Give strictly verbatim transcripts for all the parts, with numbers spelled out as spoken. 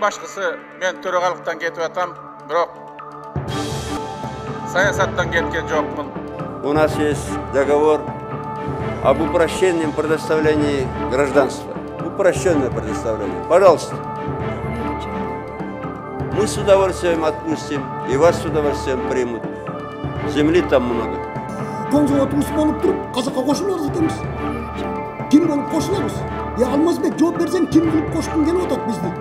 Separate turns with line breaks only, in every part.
башкысы мен төрагалыктан кетип атам, бирок саясаттан кеткен жокмун.
У нас есть договор об упрощенном предоставлении гражданства. Упрощенное предоставление. Пожалуйста. Мы с удовольствием отпустим, и вас с удовольствием примут. Земли там много.
Коңжо отуңуз болуп туруп, казакка кошулабыз экенбиз. Ким болуп кошулабыз? Я Алмазбек жооп берсең, ким кылып кошкун келип атат бизди?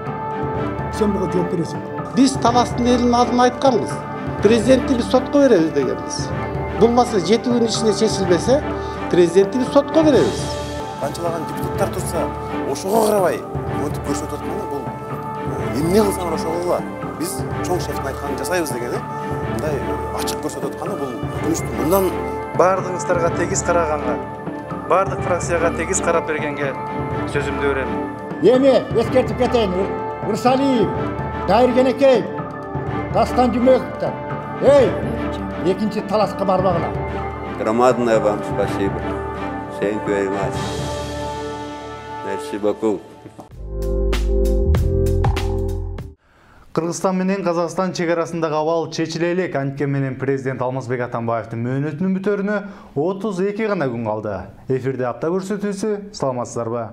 Сен буга жооп бересиң.
Биз Таластын элинин адын айтканбыз. Президентти биз сотко беребиз дегенбиз. Бул маселе жети күн ичинде чечилбесе, президентти биз сотко беребиз.
Канчалаган депутаттар турса, ошого карабай, өтүп көрсөтүп атканы бул эмне кылсаң ошого кыла. Биз чоң шефтин айтканын жасайбыз деген, мындай ачык көрсөтүп атканы бул өкүнүчтүү. Мындан
бардыгыңыздарга тегиз караганга, бардык фракцияга тегиз карап бергенге сөзүмдү берем.
Эми эскертип кетейин. Урсалиев, Дайыргенекеев, Дастан Жумековтар. Эй, экинчи талашка барбагыла.
Громадное вам спасибо. Thank you very much. Merci beaucoup.
Кыргызстан менен Казакстан чек арасындагы абал чечиле элек. Анткени менен президент Алмазбек Атамбаевдин мөөнөтүнүн бүтөрүнө отуз эки гана күн калды. Эфирде апта көрсөтүүсү. Саламатсыздарбы?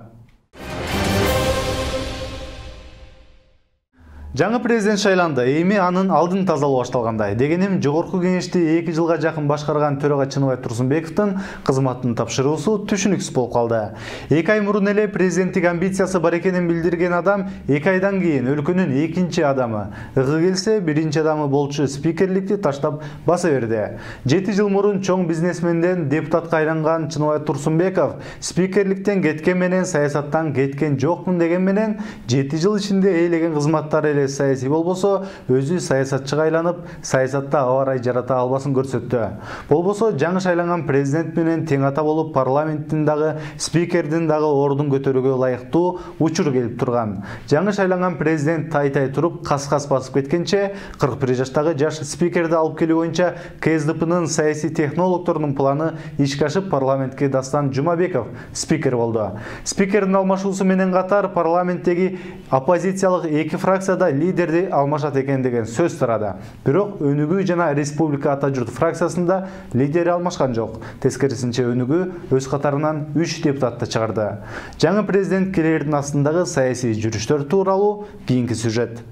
Жаңы президент шайланды. Эми анын алдын тазалоо башталгандай. Дегеним, жогорку кеңешти эки жылга жакын башкарган төрага Чыныбай Турсунбековдун кызматын тапшыруусу түшүнүксүз болуп калды. эки ай мурун эле президенттик амбициясы бар экенин билдирген адам эки айдан кийин өлкөнүн экинчи адамы, ыгы келсе биринчи адамы болчу спикерликти таштап баса берди. жети жыл мурун чоң бизнесменден депутатка айланган Чыныбай Турсунбеков спикерликтен кеткен менен саясаттан кеткен жокмун деген менен жети жыл ичинде ээлеген кызматтары эле саясий болбосо, өзү саясатчыга айланып, саясатта абарай жарата албасын көрсөттү. Болбосо жаңы шайланган президент менен тең ата болуп, парламенттин дагы, спикердин дагы ордун көтөрүүгө ылайыктуу учур келип турган. Жаңы шайланган президент тай-тай туруп, кас-кас басып кеткенче, кырк бир жаштагы жаш спикерди алып келүү боюнча КСДПнын саясий технологдорунун планы ишке ашып, парламентке Дастан Жумабеков спикер болду. Спикердин алмашуусу менен катар парламенттеги оппозициялык эки фракцияда лидерди алмашат экен деген сөз тарады. Бирок Өнүгүү жана Республика Ата журт фракциясында лидери алмашкан жок. Тескерисинче Өнүгүү өз катарынан үч депутатты чыгарды. Жаңы президент келердин астындагы саясий жүрүштөр тууралуу кийинки сюжет.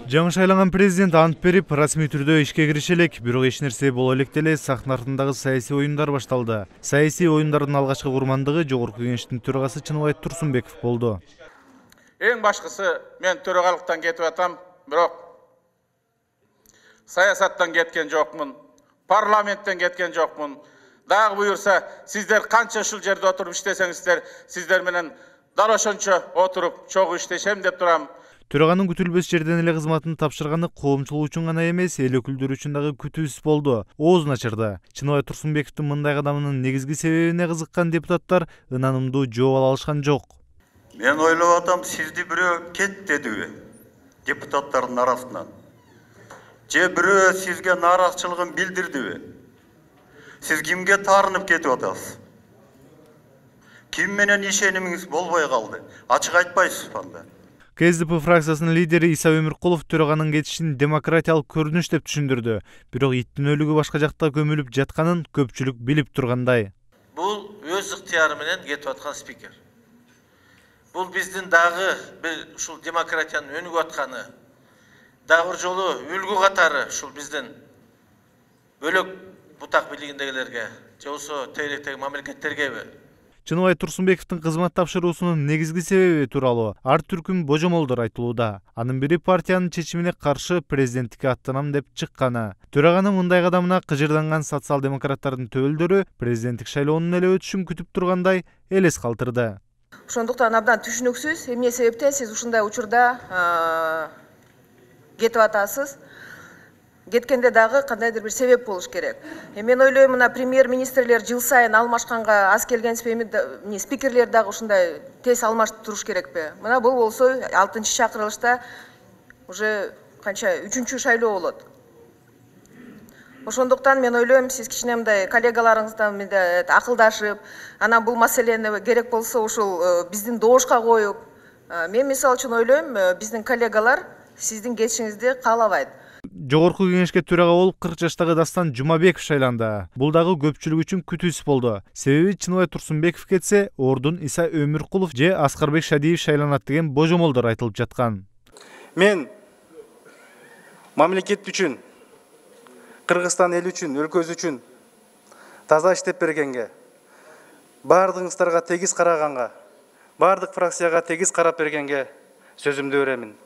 Жаңы шайланган президент ант берип, расмий түрдө ишке кириши элек, бирок эч нерсе боло элек деле сахна артындагы саясий оюндар башталды. Саясий оюндардын алгачкы курмандыгы жогорку кеңештин төрагасы Чыныбай Турсунбеков болду.
Эң башкысы мен төрагалыктан кетип атам, бирок саясаттан кеткен жокмун, парламенттен кеткен жокмун. Дагы буюрса, сиздер канча ушул жерде отуруп иштесеңиздер, сиздер менен дал ошончо отуруп чогуу иштешем деп турам.
Төраганын күтүлбөс жерден эле кызматын тапшырганы коомчулук үчүн гана эмес, эл өкүлдөрү үчүн дагы күтүүсүз болду. Оозун ачырды. Чыныбай Турсунбековдун мындай кадамынын негизги себебине кызыккан депутаттар ынанымдуу жооп ала алышкан жок.
Мен ойлоп атам, сизди бирөө кет дедиби депутаттардын арасынан? Же бирөө сизге нааразычылыгын билдирдиби? Сиз кимге таарынып кетип атасыз? Ким менен ишенимиңиз болбой калды? Ачык айтпайсызбы анда?
КСДП фракциясынын лидери Иса Өмүркулов төраганын кетишин демократиялык көрүнүш деп түшүндүрдү. Бирок иттин өлүгү башка жакта көмүлүп жатканын көпчүлүк билип тургандай.
Бул өз ыктыяры менен кетип аткан спикер. Бул биздин дагы бир ушул демократиянын өнүгүп атканы, дагы бир жолу үлгү катары ушул биздин бөлөк бутак бийлигиндегилерге, же болбосо тегеректеги мамлекеттергеби?
Чыныбай Турсунбековдун кызмат тапшыруусунун негизги себеби тууралуу ар түркүм божомолдор айтылууда. Анын бири партиянын чечимине каршы президенттикке аттанам деп чыкканы. Төраганын мындай кадамына кыжырданган социал-демократтардын төбөлдөрү президенттик шайлоонун эле өтүшүн күтүп тургандай элес калтырды.
Ошондуктан абдан түшүнүксүз, эмне себептен сиз ушундай учурда кетип атасыз? Кеткенде дагы кандайдыр бир себеп болуш керек. Мен ойлойм, мына премьер-министрлер жыл сайын алмашканга аз келген спикерлер дагы ушундай тез алмашып туруш керекпи? Мына бул болсо алтынчы чакырылышта уже канча үчүнчү шайлоо болот. Ошондуктан мен ойлойм, сиз кичине мындай коллегаларыңыздан мындай акылдашып, анан бул маселени керек болсо ушул биздин добушка коюп, мен мисалы үчүн ойлойм, биздин коллегалар сиздин кетишиңизди каалабайт.
Жогорку кеңешке төрага болуп кырк жаштагы Дастан Жумабеков шайланды. Бул дагы көпчүлүк үчүн күтүүсүз болду. Себеби Чыныбай Турсунбеков кетсе, ордун Иса Өмүркулов же Аскарбек Шадиев шайланат деген божомолдор айтылып жаткан.
Мен мамлекет үчүн, Кыргызстан эл үчүн, өлкөбүз үчүн таза иштеп бергенге, баардыгыңыздарга тегиз караганга, баардык фракцияга тегиз карап бергенге сөзүмдү беремин.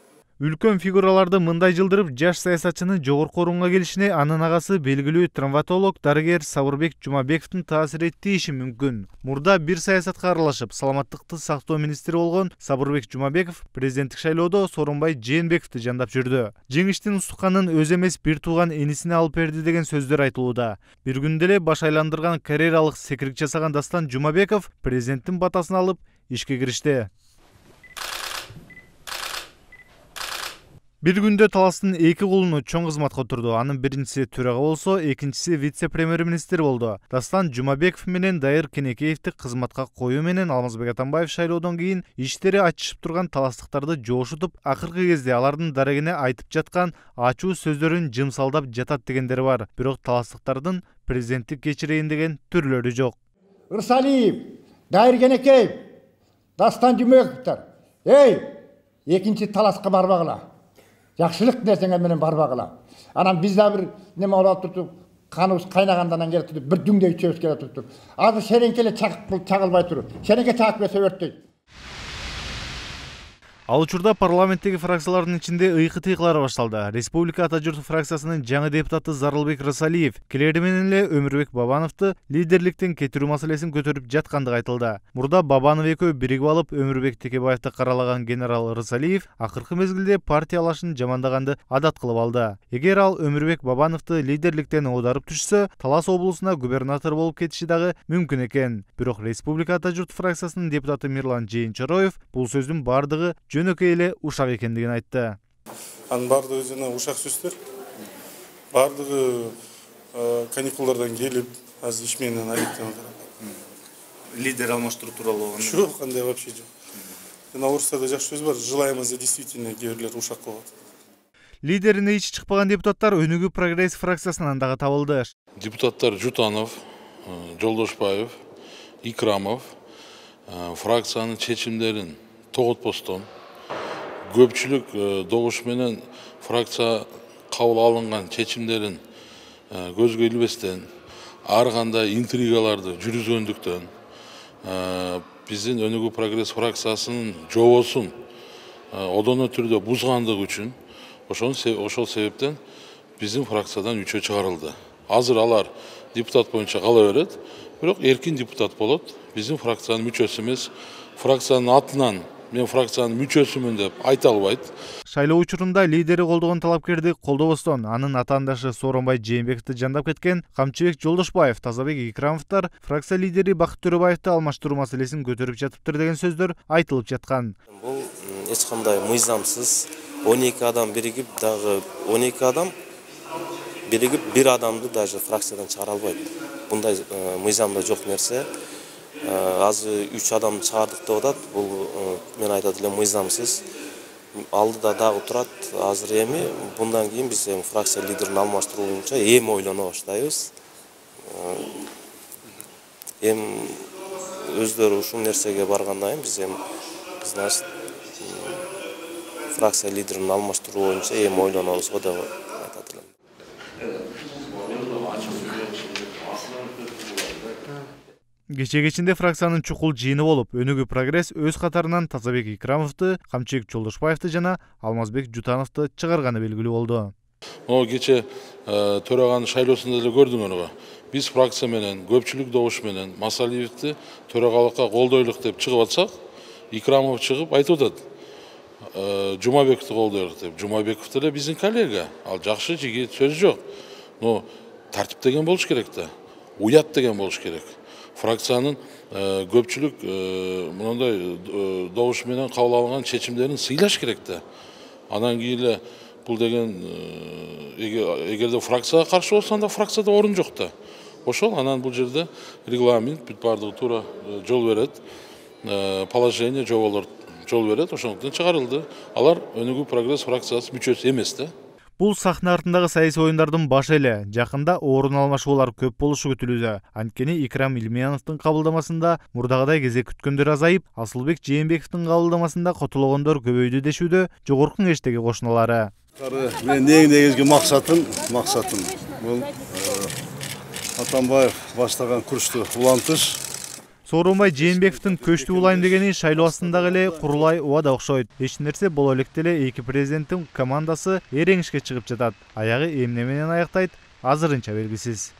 Үлкөн фигураларды мындай жылдырып, жаш саясатчынын жогорку орунга келишине анын агасы белгилүү травматолог дарыгер Сабырбек Жумабековдун таасир этиши мүмкүн. Мурда бир саясатка аралашып, саламаттыкты сактоо министри болгон Сабырбек Жумабеков президенттик шайлоодо Сооронбай Жээнбековду жандап жүрдү. Жеңиштин устуканын өзү эмес бир тууган энисине алып берди деген сөздөр айтылууда. Бир күндө эле баш айландырган карьералык секирик жасаган Дастан Жумабеков президенттин батасын алып ишке киришти. Бир күндө Таластын эки кулуну чоң кызматка отурду. Анын биринчиси төрага болсо, экинчиси вице-премьер-министр болду. Дастан Жумабеков менен Дайыр Кенекеевди кызматка коюу менен Алмазбек Атамбаев шайлоодон кийин иштери ачышып турган таластыктарды жошутуп, акыркы кезде алардын дарегине айтып жаткан ачуу сөздөрүн жымсалдап жатат дегендер бар. Бирок таластыктардын президенттик кечирейин деген түрлөрү жок.
Ырсалиев, Дайыр Кенекеев, Дастан Жумабековдор, эй, экинчи таласка барбагыла. Жакшылык нерсеңер менен барбагыла. Анан биз да бир неме алып туруп, каныбыз кайнагандан келип туруп, бир дүңдө ичебиз келип туруп. Азыр шереңкеле чагып чагылбай туруп. Шереңке чагып берсе өрттөйт.
Ал учурда парламенттеги фракциялардын ичинде ыйкы-тыйкылар башталды. Республика Ата журт фракциясынын жаңы депутаты Зарылбек Рысалиев келери менен эле Өмүрбек Бабановду лидерликтен кетирүү маселесин көтөрүп жаткандыгы айтылды. Мурда Бабанов экөө биригип алып Өмүрбек Текебаевди каралаган генерал Рысалиев акыркы мезгилде партия алашын жамандаганды адат кылып алды. Эгер ал Өмүрбек Бабановду лидерликтен оодарып түшсө, Талас облусуна губернатор болуп кетиши дагы мүмкүн экен. Бирок Республика Ата журт фракциясынын депутаты Мирлан Жээнчороев бул сөздүн бардыгы жөнөкөй эле ушак экендигин айтты.
Анын бардыгы жана ушак сөздөр. Бардыгы каникулдардан келип, азыр иш менен алектенip атат.
Лидер алмаштыруу тууралуу болгондо.
Жок, кандай вообще жок. Жана орустарда жакшы сөз бар, желаем за действительно кээ бирлер ушак кылып атат.
Лидерине ичи чыкпаган депутаттар Өнүгүү прогресс фракциясынан дагы табылды.
Депутаттар Жутанов, Жолдошбаев, Икрамов фракциянын чечимдерин тоготпостон, көпчүлүк добуш менен фракция кабыл алынган чечимдерин көзгө илбестен, ар кандай интригаларды жүргүзгөндүктөн биздин Өнүгүү прогресс фракциясынын жобосун одоно түрдө бузгандыгы үчүн ошол себептен биздин фракциядан үчөө чыгарылды. Азыр алар депутат боюнча кала берет, бирок эркин депутат болот. Биздин фракциянын мүчөсү эмес, фракциянын атынан мен фракциянын мүчөсүмүн деп айта албайт.
Шайлоо учурунда лидери колдогон талапкерди колдобостон анын атаандашы Сооронбай Жээнбековду жандап кеткен Камчыбек Жолдошбаев, Тазабек Икрамовдор фракция лидери Бакыт Төрөбаевди алмаштыруу маселесин көтөрүп жатыптыр деген сөздөр айтылып жаткан.
Бул эч кандай мыйзамсыз он эки адам биригип, дагы он эки адам биригип бир адамды даже фракциядан чыгара албайт. Мындай мыйзамда жок нерсе. Азыр үч адамды чыгардык деп атат. Бул мен айтат элем мыйзамсыз. Алдыда дагы турат. Азыр эми bundan кийин биз эми фракция лидерин алмаштыруу боюнча эми ойлоно баштайбыз. Эми өздөрү ушул нерсеге баргандан кийин биз эми значит фракция лидерин алмаштыруу боюнча эми ойлонобуз го деп айтат элем.
Кече кечинде фракциянын чукул жыйыны болуп, Өнүгүү прогресс өз катарынан Тазабек Икрамовду, Камчыбек Жолдошбаевди жана Алмазбек Жутановду чыгарганы белгилүү болду.
О кече төраганын шайлоосунда эле көрдүңөр го. Биз фракция менен, көпчүлүк добуш менен Масалиевди төрагалыкка колдойлук деп чыгып атсак, Икрамов чыгып айтып атат. Жумабековду колдойлук деп. Жумабеков деле биздин коллега. Ал жакшы жигит, сөз жок. Но тартип деген болуш керек да. Уят деген болуш керек. Фракциянын көпчүлүк мындай добуш менен кабыл алынган чечимдерин сыйлаш керек да. Анан кийин эле бул деген эгерде фракцияга каршы болсо анда фракцияда орун жок да. Ошол анан бул жерде регламент бүт баардыгы туура жол берет. Положение жоболор жол берет, ошондуктан чыгарылды. Алар Өнүгүү прогресс фракциясы мүчөсү эмес да.
Бул сахна артындагы саясий оюндардын башы эле. Жакында орун алмашуулар көп болушу күтүлүүдө. Анткени Икрам Илмияновдун кабылдамасында мурдагыдай кезек күткөндөр азайып, Асылбек Жээнбековдун кабылдамасында котулгондор көбөйдү дешүүдө Жогорку Кеңештеги кошуналары.
Мен негизги максатым, максатым бул Атамбаев баштаган курчту улантыш.
Сооронбай Жээнбековдун көчтү улайм дегени шайлоо астындагы эле курулай убада окшойт. Эч нерсе боло электе эле эки президенттин командасы эреңишке чыгып жатат. Аягы эмне менен аяктайт, азырынча белгисиз.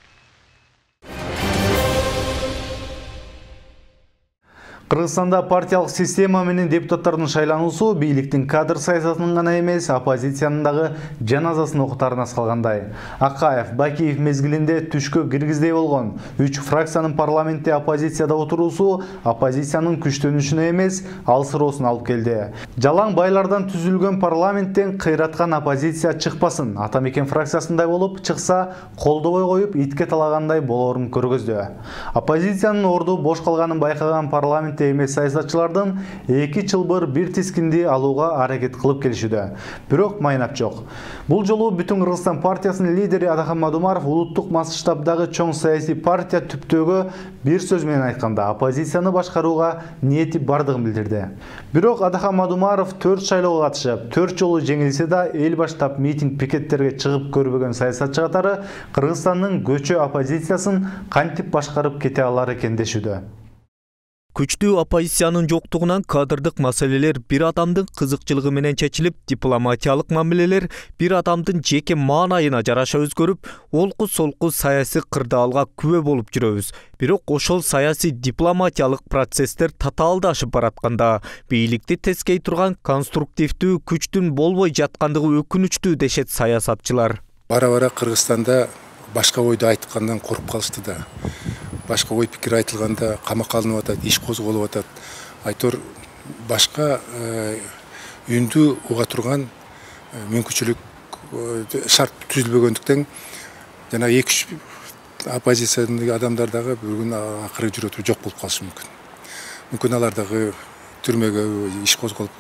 Кыргызстанда партиялык система менен депутаттардын шайлануусу бийликтин кадр саясатынын гана эмес, оппозициянын дагы жаназасын окутарына салгандай. Акаев, Бакиев мезгилинде түшкө киргиздей болгон үч фракциянын парламентте оппозицияда отуруусу оппозициянын күчтөнүшүнө эмес, алсыроосуна алып келди. Жалаң байлардан түзүлгөн парламенттен кыйраткан оппозиция чыкпасын, Атамекен фракциясындай болуп чыкса, колдобой коюп итке талагандай болоорун көргөздү. Оппозициянын орду бош калганын байкаган парламент эмес саясатчылардын эки чылбыр бир тискинди алууга аракет кылып келишүүдө. Бирок майнап жок. Бул жолу Бүтүн Кыргызстан партиясынын лидери Адахан Мадумаров улуттук масштабдагы чоң саясий партия түптөгү бир сөз менен айтканда оппозицияны башкарууга ниети бардыгын билдирди. Бирок Адахан Мадумаров төрт шайлоого катышып, төрт жолу жеңилсе да эл баштап митинг пикеттерге чыгып көрбөгөн саясатчы катары Кыргызстандын көчө оппозициясын кантип башкарып кете алар экен дешүүдө.
Күчтүү оппозициянын жоктугунан кадрдык маселелер бир адамдын кызыкчылыгы менен чечилип, дипломатиялык мамилелер бир адамдын жеке маанайына жараша өзгөрүп, олку-солку саясий кырдаалга күбө болуп жүрөбүз. Бирок ошол саясий дипломатиялык процесстер татаалдашып баратканда, бийликти тескей турган конструктивдүү күчтүн болбой жаткандыгы өкүнүчтүү дешет саясатчылар.
Бара-бара Кыргызстанда башка ойду айткандан коруп калышты да. Башка ой пикир айтылганда камакка алынып атат, иш козголуп атат. Айтор башка үндү уга турган мүмкүнчүлүк шарт түзүлбөгөндүктөн жана эки үч оппозициядагы адамдар дагы бүгүн акыры жүрөтүп жок болуп калышы мүмкүн. Мүмкүн алар дагы түрмөгө иш козголуп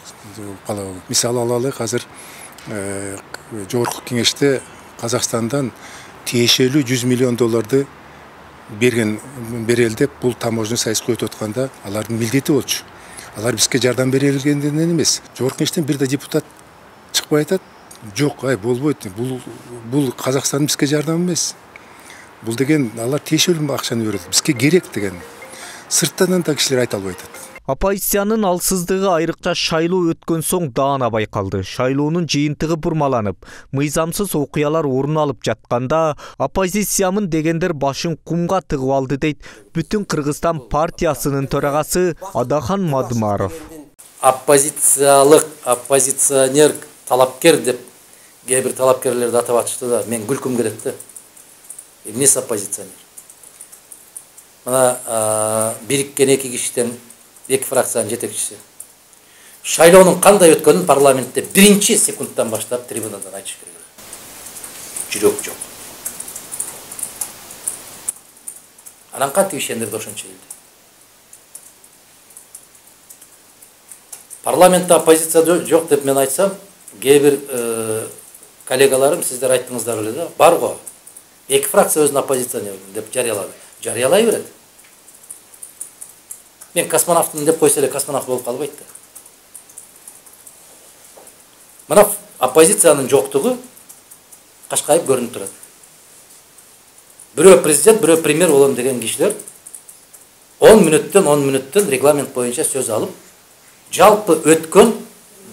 калабы. Мисалы алалы, азыр Жогорку Кеңеште Казакстандан тиешелүү жүз миллион долларды берген берели деп бул таможня сайыска өтүп атканда алардын милдети болчу. Алар бизге жардам берилгенден эмес. Жогорку Кеңештен бир да депутат чыкпай айтат, жок, ай болбойт. Бул бул Казакстандын бизге жардам эмес. Бул деген алар тиешелүү акчаны берет. Бизге керек деген. Сырттан да кишилер айта албай атат.
Оппозициянын алсыздыгы айрыкча шайлоо өткөн соң даана байкалды. Шайлоонун жыйынтыгы бурмаланып, мыйзамсыз окуялар орун алып жатканда, оппозициямын дегендер башын кумга тыгып алды дейт Бүтүн Кыргызстан партиясынын төрагасы Адахан Мадумаров.
Оппозициялык, оппозиционер, талапкер деп кээ бир талапкерлерди атап атышты да, мен күлкүм келет да. Эмнеси оппозиционер? Мына бириккен эки кишиден эки фракциянын жетекчиси. Шайлоонун кандай өткөнүн парламентте биринчи секундтан баштап трибунадан айтыш керек. Жүрөк жок. Анан кантип ишендирди ошончо элди? Парламентте оппозиция жок деп мен айтсам, кээ бир коллегаларым сиздер айттыңыздар эле да, бар го. Эки фракция өзүн оппозиционер деп жарыялады. Жарыялай берет. Мен космонавтмын деп койсо эле космонавт болуп калбайт да. Мына оппозициянын жоктугу кашкайып көрүнүп турат. Бирөө президент, бирөө премьер болом деген кишилер он мүнөттөн он мүнөттөн регламент боюнча сөз алып, жалпы өткөн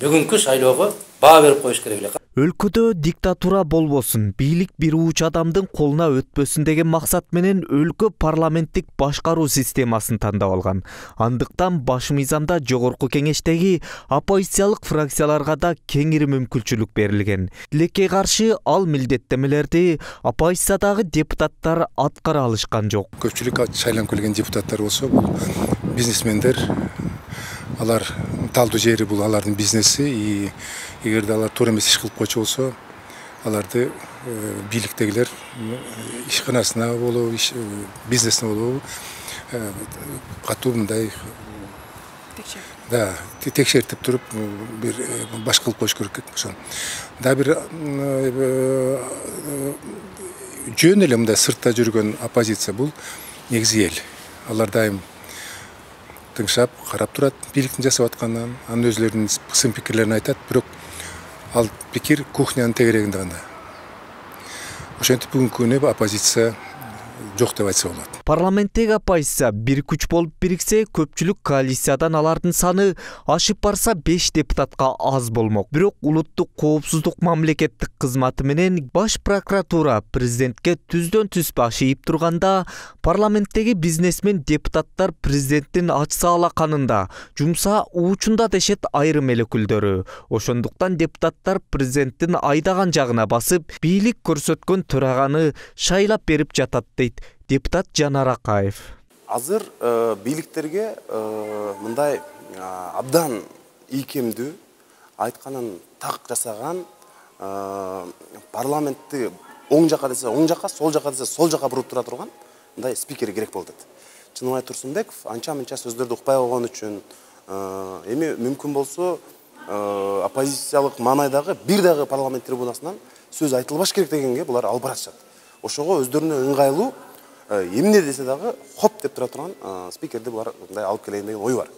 бүгүнкү шайлоого баа берип коюш керек эле.
Өлкөдө диктатура болбосун, бийлик бир уч адамдын колуна өтпөсүн деген максат менен өлкө парламенттик башкаруу системасын тандап алган. Андыктан баш мыйзамда Жогорку Кеңештеги оппозициялык фракцияларга да кеңири мүмкүнчүлүк берилген. Тилекке каршы ал милдеттемелерди оппозициядагы депутаттар аткара алышкан жок.
Көпчүлүк шайланып келген депутаттар болсо, бул бизнесмендер, алар талдуу жери бул алардын бизнеси, и эгерде алар туура эмес иш кылып койчу болсо, аларды бийликтегилер ишканасына болобу, бизнесине болобу катуу мындай да текшертип туруп бир баш кылып коюш керек ошону. Да бир жөн эле мындай сыртта жүргөн оппозиция бул негизи эл. Алар дайым тыңшап, карап турат бийликтин жасап атканын, анын өзлөрүнүн сын пикирлерин айтат, бирок ал пикир кухнянын тегерегинде гана. Ошентип бүгүнкү күнү оппозиция жок деп айтса болот.
Парламенттеги оппозиция бир күч болуп бириксе, көпчүлүк коалициядан алардын саны ашып барса беш депутатка аз болмок. Бирок улуттук коопсуздук мамлекеттик кызматы менен баш прокуратура президентке түздөн түз баш ийип турганда, парламенттеги бизнесмен депутаттар президенттин ачса алаканында, жумса уучунда дешет айрым эл өкүлдөрү. Ошондуктан депутаттар президенттин айдаган жагына басып, бийлик көрсөткөн төраганы шайлап берип жатат дейт депутат Жанар Акаев.
Азыр бийликтерге мындай абдан ийкемдүү, айтканын так жасаган, парламентти оң жака десе оң жака, сол жака десе сол жака буруп тура турган мындай спикер керек болот. Чыныбай Турсунбеков анча-мынча сөздөрдү укпай койгон үчүн, эми мүмкүн болсо оппозициялык маанайдагы бир дагы парламент трибунасынан сөз айтылбаш керек дегенге булар алып баратышат. Ошого өздөрүнө ыңгайлуу эмне десе дагы хоп деп тура турган спикерди булар мындай алып келейин деген ой бар.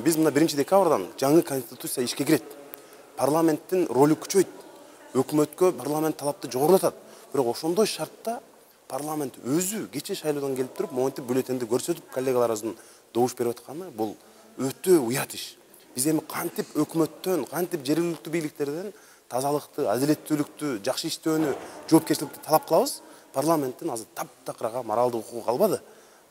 Биз мына биринчи декабрдан жаңы конституция ишке кирет. Парламенттин ролу күчөйт. Өкмөткө парламент талапты жогорулатат. Бирок ошондой шартта парламент өзү кече шайлоодон келип туруп, монтип бюллетенди көрсөтүп коллегаларыбыздын добуш берип атканы бул өтө уят иш. Биз эми кантип өкмөттөн, кантип жергиликтүү бийликтерден тазалыкты, адилеттүүлүктү, жакшы иштөөнү, жоопкерчиликти талап кылабыз. Парламенттин азыр таптакырага моралдык укугу калбады.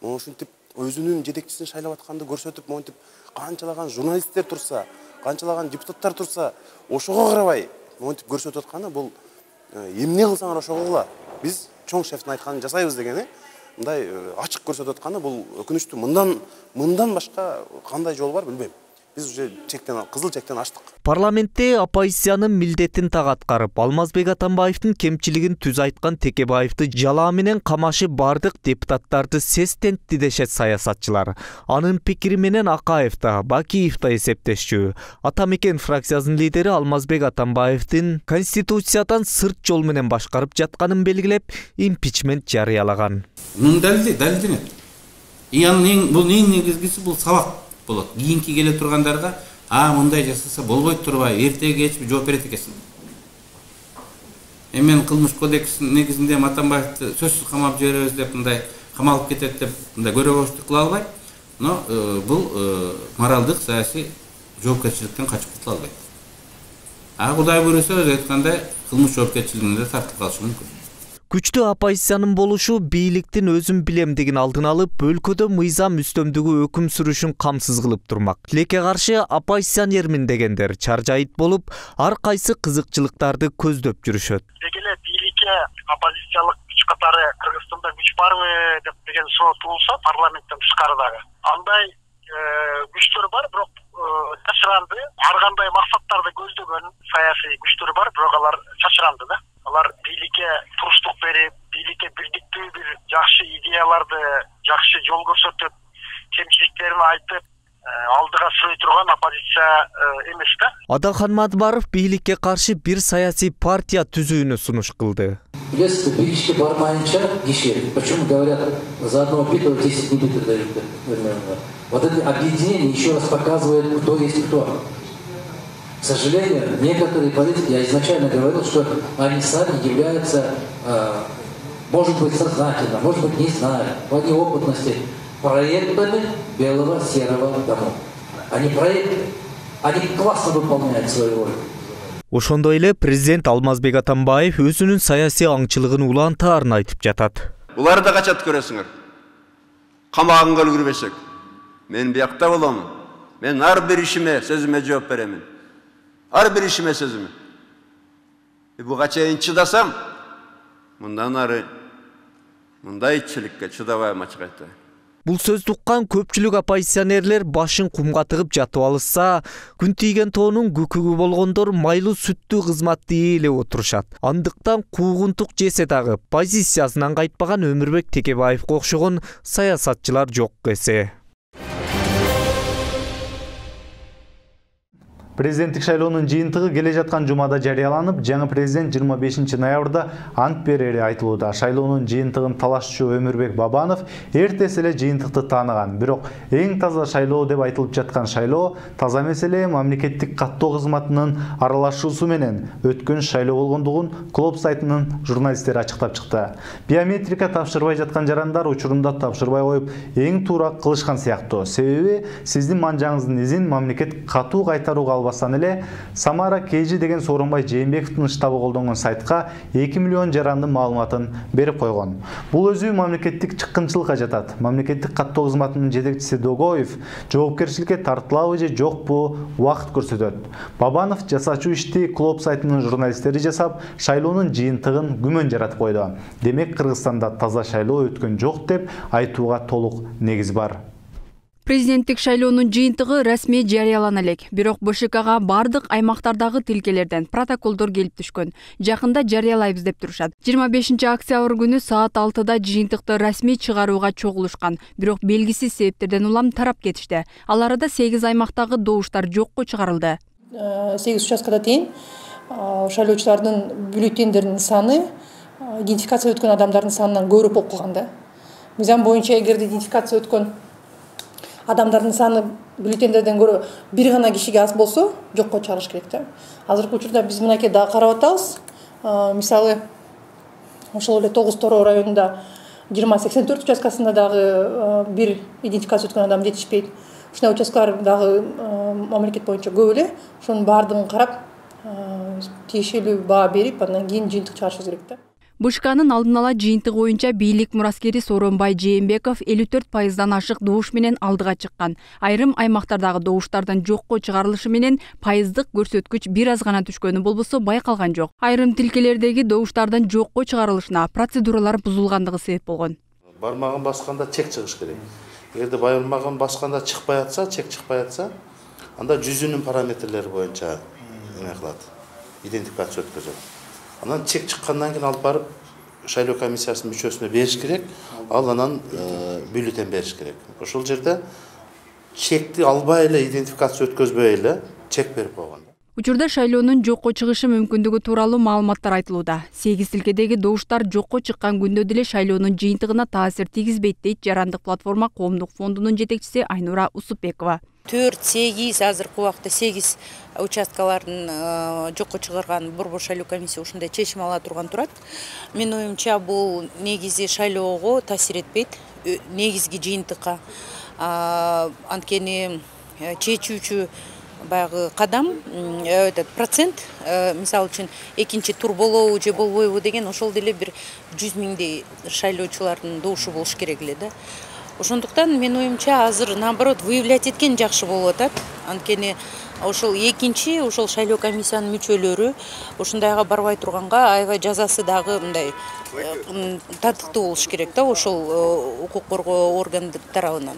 Ошентип өзүнүн жетекчисин шайлап атканды көрсөтүп, монтип канчалаган журналисттер турса, канчалаган депутаттар турса, ошого карабай монтип көрсөтүп атканы бул эмне кылсаңар ошого кыла. Биз чоң шефтин айтканын жасайбыз дегени мындай ачык көрсөтүп атканы бул өкүнүчтүү. Мындан мындан башка кандай жол бар билбейм. Биз уже чектен кызыл чектен аштык.
Парламентте оппозициянын милдетин так аткарып, Алмазбек Атамбаевдин кемчилигин түз айткан Текебаевди жалаа менен камашып бардык депутаттарды сестентти дешет саясатчылар. Анын пикири менен Акаев да, Бакиев да эсептешчү. Атамекен фракциясынын лидери Алмазбек Атамбаевдин конституциядан сырт жол менен башкарып жатканын белгилеп, импичмент жарыялаган.
Мунун далили далилденет. И анын бул эң негизгиси бул сабак болот. Кийинки келе тургандарга а мындай жасаса болбойт турбайбы, эртеге кечпи жооп берет экенсиң. Эми мен кылмыш кодексинин негизинде Атамбаевди сөзсүз камап жиберебиз деп мындай камалып кетет деп мындай көрөгөчтүк кыла албайт. Но бул моралдык саясий жоопкерчиликтен качып кутула албайт. А Кудай буйруса өзү айткандай кылмыш жоопкерчилигине да тартылып калышы мүмкүн.
Күчтүү оппозициянын болушу бийликтин өзүн билемдигин алдын алып, өлкөдө мыйзам үстөмдүгү өкүм сүрүшүн камсыз кылып турмак. Тилекке каршы оппозиционермин дегендер чаржайыт болуп, ар кайсы кызыкчылыктарды көздөп жүрүшөт.
Дегеле бийликке оппозициялык күч катары Кыргызстанда күч барбы деп деген суроо туулса, парламенттен тышкарыдагы андай күчтөр бар, бирок чачыранды, ар кандай максаттарды көздөгөн саясий күчтөр бар, бирок алар чачыранды да. Алар бийликке туруштук берип, бийликке бирдиктүү бир жакшы идеяларды, жакшы жол көрсөтүп, кемчиликтерин айтып, алдыга сүрөй турган оппозиция эмес да.
Адалхан Мадбаров бийликке каршы бир саясий партия түзүүнү сунуш кылды.
Билесиз, бийликке бармайынча киши, почему говорят, за одного пита десять не битых дают. Вот это объединение еще раз показывает, кто есть кто. К сожалению, некоторые политики, я изначально говорил, что они сами являются, э, может быть, сознательно, может быть, не знаю, по неопытности, проектами белого серого дома. Они проекты, они классно выполняют свою роль.
Ошондой эле президент Алмазбек Атамбаев өзүнүн саясий аңчылыгын улантаарын айтып жатат.
Булар да качат көрөсүңөр. Камагыңга үлгүрбесек, мен биякта болом. Мен ар бир ишиме, сөзүмө жооп беремин. Ар бир ишиме сөзүмө. Буга чейин чыдасам, мындан ары мындай ичиликке чыдабайм ачык айтайын.
Бул сөздү уккан көпчүлүк оппозиционерлер башын кумга тыгып жатып алышса, күн тийген тоонун күкүгү болгондор майлуу сүттүү кызматты ээлеп отурушат. Андыктан куугунтук жесе дагы позициясынан кайтпаган Өмүрбек Текебаевге окшогон саясатчылар жок эсе.
Президенттик шайлоонун жыйынтыгы келе жаткан жумада жарыяланып, жаңы президент жыйырма бешинчи ноябрда ант берери айтылууда. Шайлоонун жыйынтыгын талашчу Өмүрбек Бабанов эртеси эле жыйынтыкты тааныган. Бирок эң таза шайлоо деп айтылып жаткан шайлоо таза эмес эле мамлекеттик каттоо кызматынын аралашуусу менен өткөн шайлоо болгондугун Клоп сайтынын журналисттери ачыктап чыкты. Биометрика тапшырбай жаткан жарандар учурунда тапшырбай коюп, эң туура кылышкан сыяктуу. Себеби сиздин манжаңыздын изин мамлекет катуу кайтарууга басан эле Самара Кейжи деген Сооронбай Жээнбековдун штабы колдонгон сайтка эки миллион жарандын маалыматын берип койгон. Бул өзү мамлекеттик чыккынчылыкка жатат. Мамлекеттик каттоо кызматынын жетекчиси Догоев жоопкерчиликке тартылабы же жокпу убакыт көрсөтөт. Бабанов жасачу ишти Клоп сайтынын журналисттери жасап, шайлоонун жыйынтыгын күмөн жаратып койду. Демек Кыргызстанда таза шайлоо өткөн жок деп айтууга толук негиз бар.
Президенттик шайлоонун жыйынтыгы расмий жарыялана элек. Бирок Б Ш Кга бардык аймактардагы тилкелерден протоколдор келип түшкөн. Жакында жарыялайбыз деп турушат. жыйырма бешинчи октябрь күнү саат алтыда жыйынтыкты расмий чыгарууга чогулушкан. Бирок белгисиз себептерден улам тарап кетишти. Ал арада сегиз аймактагы добуштар жокко чыгарылды.
сегиз участкада тең шайлоочулардын бюллетендеринин саны идентификация өткөн адамдардын санынан көбүрөөк болуп калган да. Мыйзам боюнча эгерде идентификация өткөн адамдардын саны бюллетендерден көрө бир гана кишиге аз болсо жокко чыгарыш керек да. Азыркы учурда биз мынакей дагы карап атабыз. Мисалы ошол эле тогуз Тороо районунда жыйырма сексен төрт участкасында дагы бир идентификация өткөн адам жетишпейт. Ушундай участкалар дагы мамлекет боюнча көп эле. Ошонун баардыгын карап, тиешелүү баа берип, андан кийин жыйынтык чыгарышыбыз керек да.
Б Ш Кнын алдын ала жыйынтыгы боюнча бийлик мураскери Сооронбай Жээнбеков элүү төрт пайыздан ашык добуш менен алдыга чыккан. Айрым аймактардагы добуштардын жокко чыгарылышы менен пайыздык көрсөткүч бир аз гана түшкөнү болбосо байкалган жок. Айрым тилкелердеги добуштардын жокко чыгарылышына процедуралар бузулгандыгы себеп болгон.
Бармагын басканда чек чыгыш керек. Эгерде бармагын басканда чыкпай атса, чек чыкпай атса, анда жүзүнүн параметрлери боюнча эме кылат. Идентификация өткөзөт. Анан чек чыккандан кийин алып барып шайлоо комиссиясынын мүчөсүнө бериш керек, ал анан бюллетен бериш керек. Ошол жерде чекти албай эле идентификация өткөзбөй эле чек берип койгон.
Учурда шайлоонун жокко чыгышы мүмкүндүгү тууралуу маалыматтар айтылууда. сегиз тилкедеги добуштар жокко чыккан күндө деле шайлоонун жыйынтыгына таасир тийгизбейт дейт Жарандык платформа коомдук фондунун жетекчиси Айнура Усупбекова.
төрт сегиз азыркы убакта сегиз участкалардын жокко чыгарган Борбор шайлоо комиссия ушундай чечим ала турган турат. Менин оюмча бул негизи шайлоого таасир этпейт, негизги жыйынтыкка. Анткени чечүүчү баягы кадам этот процент, мисалы үчүн экинчи тур болобу же болбойбу деген ошол деле бир жүз миңдей шайлоочулардын добушу болуш керек эле да. Ошондуктан менин оюмча азыр наоборот выявлять эткен жакшы болуп атат. Анткени ошол экинчи ошол шайлоо комиссиянын мүчөлөрү ушундайга барбай турганга аябай жазасы дагы мындай татыктуу болуш керек да ошол укук коргоо органдары тарабынан.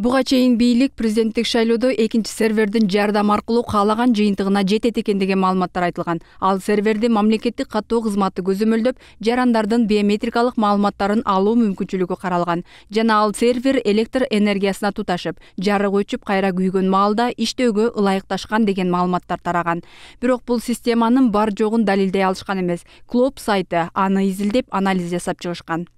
Буга чейин бийлик президенттик шайлоодо экинчи сервердин жардам аркылуу каалаган жыйынтыгына жетет экен деген маалыматтар айтылган. Ал серверди мамлекеттик каттоо кызматы көзөмөлдөп, жарандардын биометрикалык маалыматтарын алуу мүмкүнчүлүгү каралган. Жана ал сервер электр энергиясына туташып, жарык өчүп кайра күйгөн маалда иштөөгө ылайыкташкан деген маалыматтар тараган. Бирок бул системанын бар жогун далилдей алышкан эмес. Клоп сайты аны изилдеп, анализ жасап чыгышкан.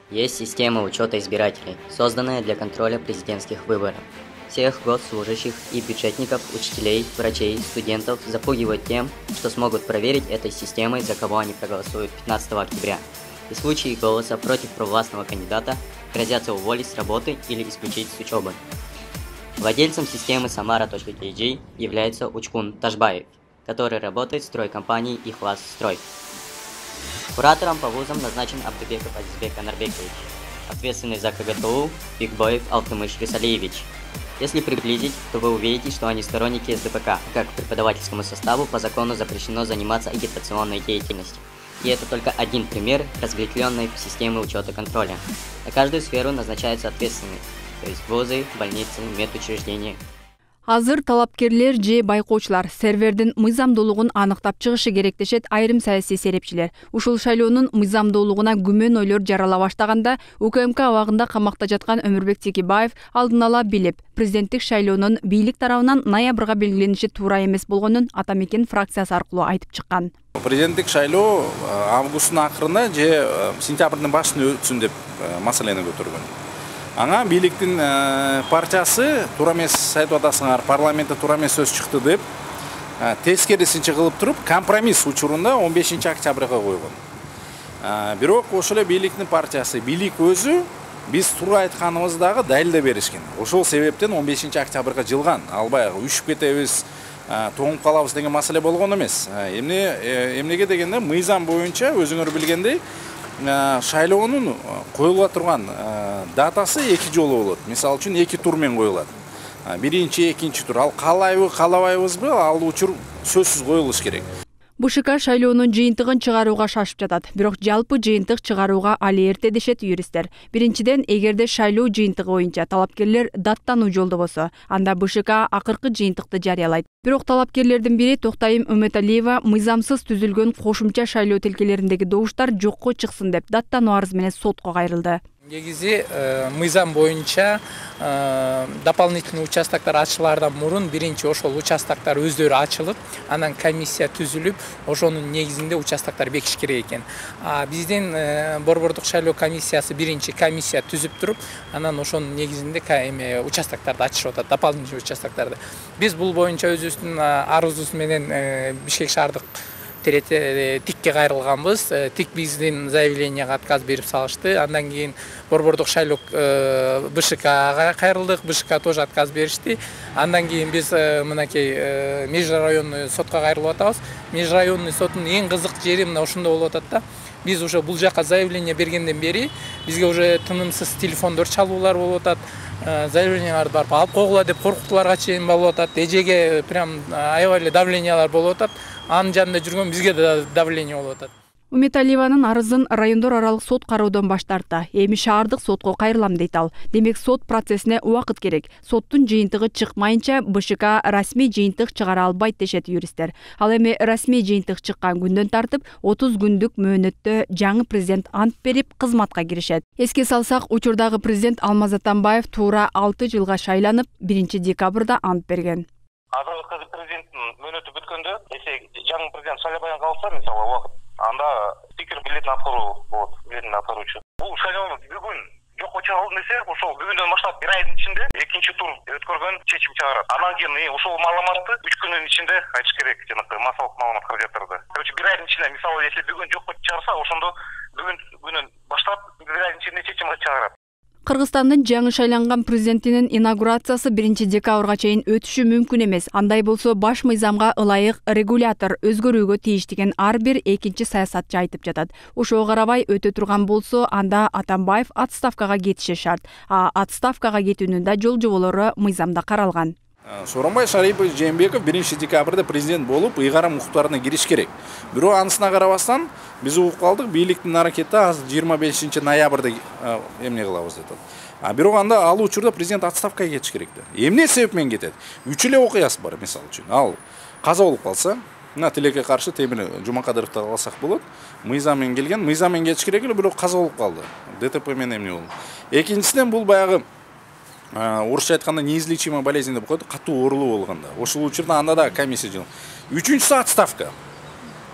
Есть система учета избирателей, созданная для контроля президентских выборов. Всех госслужащих и бюджетников, учителей, врачей, студентов запугивают тем, что смогут проверить этой системой, за кого они проголосуют пятнадцатого октября. И в случае голоса против провластного кандидата грозятся уволить с работы или исключить с учебы. Владельцем системы Самара.kg является Учкун Ташбаев, который работает в стройкомпании «Ихлас Строй». Куратором по вузам назначен Абдыбеков Азизбек Анарбекович, ответственный за КГТУ Бигбоев Алтымыш Рисалиевич. Если приблизить, то вы увидите, что они сторонники эс дэ пэ ка, как преподавательскому составу по закону запрещено заниматься агитационной деятельностью. И это только один пример разветвленной системы учета контроля. На каждую сферу назначаются ответственные. то есть вузы, больницы, медучреждения.
Азыр талапкерлер же байкоочулар сервердин мыйзамдуулугун аныктап чыгышы керек дешет айрым саясий серепчилер. Ушул шайлоонун мыйзамдуулугуна күмөн ойлор жарала баштаганда УКМК абагында камакта жаткан Өмүрбек Текебаев алдын ала билип, президенттик шайлоонун бийлик тарабынан ноябрга белгилениши туура эмес болгонун Ата Мекен фракциясы аркылуу айтып чыккан.
Президенттик шайлоо августтун акырында же сентябрдын башында өтсүн деп маселени көтөргөн. Аңа бийликтин партиясы туура эмес айтып атасыңар, парламентте туура эмес сөз чыкты деп тескерисинче кылып туруп компромисс учурунда он бешинчи октябрга койгон. Бирок ошол эле бийликтин партиясы, бийлик өзү биз туура айтканыбызды дагы далилдеп беришкен. Ошол себептен он бешинчи октябрга жылган. Ал баягы үшүп кетебиз, тоңуп калабыз деген маселе болгон эмес. Эмне эмнеге дегенде мыйзам боюнча өзүңөр билгендей шайлоонун коюла турган датасы эки жолу болот. Мисалы үчүн эки тур менен коюлат. Биринчи, экинчи тур. Ал каалайбы, каалабайбызбы, ал учур сөзсүз коюлуш керек.
БШК шайлоонун жыйынтыгын чыгарууга шашып жатат. Бирок жалпы жыйынтык чыгарууга али эрте дешет юристтер. Биринчиден, эгерде шайлоо жыйынтыгы боюнча талапкерлер даттануу жолдобосо, анда БШК акыркы жыйынтыкты жарыялайт. Бирок талапкерлердин бири Токтайым Үмөталиева мыйзамсыз түзүлгөн кошумча шайлоо тилкелериндеги добуштар жокко чыксын деп даттануу арызы менен сотко кайрылды.
Негизи мыйзам боюнча дополнительный участоктор ачылаардан мурун биринчи ошол участоктор өздөрү ачылып, анан комиссия түзүлүп, ошонун негизинде участоктор бекиш керек экен. Биздин Борбордук шайлоо комиссиясы биринчи комиссия түзүп туруп, анан ошонун негизинде эме участокторду ачышып атат, дополнительный участокторду. Биз бул боюнча өзүбүздүн арызыбыз менен Бишкек шаардык тикке кайрылганбыз. Тик биздин заявленияга отказ берип салышты. Андан кийин Борбордук шайлоо БШКга кайрылдык. БШК тоже отказ беришти. Андан кийин биз мынакей межрайонный сотко кайрылып атабыз. Межрайонный соттун эң кызык жери мына ушунда болуп атат да. Биз уже бул жака заявление бергенден бери бизге уже тынымсыз телефондор чалуулар болуп атат. Заявленияларды барып алып койгула деп коркутууларга чейин болуп атат. Эжеге прям аябай эле давлениялар болуп атат. Анын жанында жүргөн бизге да давление болуп атат.
Үмөталиеванын арызын райондор аралык сот кароодон баш тартты. Эми шаардык сотко кайрылам дейт ал. Демек сот процессине убакыт керек. Соттун жыйынтыгы чыкмайынча БШК расмий жыйынтык чыгара албайт дешет юристтер. Ал эми расмий жыйынтык чыккан күндөн тартып отуз күндүк мөөнөттө жаңы президент ант берип кызматка киришет. Эске салсак, учурдагы президент Алмаз Атамбаев туура алты жылга шайланып, биринчи декабрда ант берген.
Азыркы президенттин мөөнөтү бүткөндө, эсе жаңы президент шайлабай калса, мисалы убакыт, анда спикер билетин аткаруу болот, билетин аткаруучу. Бул шайлоону бүгүн жокко чыгарылды десе, ошол бүгүндөн баштап бир айдын ичинде экинчи тур өткөргөн чечим чыгарат. Анан кийин ошол маалыматты үч күндүн ичинде айтыш керек, жанагы массалык маалымат каражаттарды. Короче, бир айдын ичинде, мисалы, если бүгүн жокко чыгарса, ошондо бүгүн күнүн баштап бир айдын ичинде чечим чыгарат.
Кыргызстандын жаңы шайланган президентинин инаугурациясы биринчи декабрга чейин өтүшү мүмкүн эмес. Андай болсо баш мыйзамга ылайык регулятор өзгөрүүгө тийиш деген ар бир экинчи саясатчы айтып жатат. Ошого карабай өтө турган болсо, анда Атамбаев отставкага кетиши шарт. А отставкага кетүүнүн да жол жоболору мыйзамда каралган.
Сооронбай Шарипович Жээнбеков биринчи декабрда президент болуп, ыйгарым укуктарына кириш керек. Бирок анысына карабастан биз угуп калдык, бийликтин аракети азыр жыйырма бешинчи ноябрда эмне кылабыз деп атат. А бирок анда ал учурда президент отставкага кетиш керек да. Эмне себеп менен кетет? Үч эле окуясы бар, мисалы үчүн. Ал каза болуп калса, мына тилекке каршы Темир Жумакадыровду алсак болот. Мыйзам менен келген, мыйзам менен кетиш керек эле, бирок каза болуп калды. ДТП менен эмне болду? Экинчисинен бул баягы орусча айтканда неизлечимая болезнь деп коет, катуу оорулуу болгондо. Ошол учурда анда да комиссия жыл. Үчүнчүсү отставка.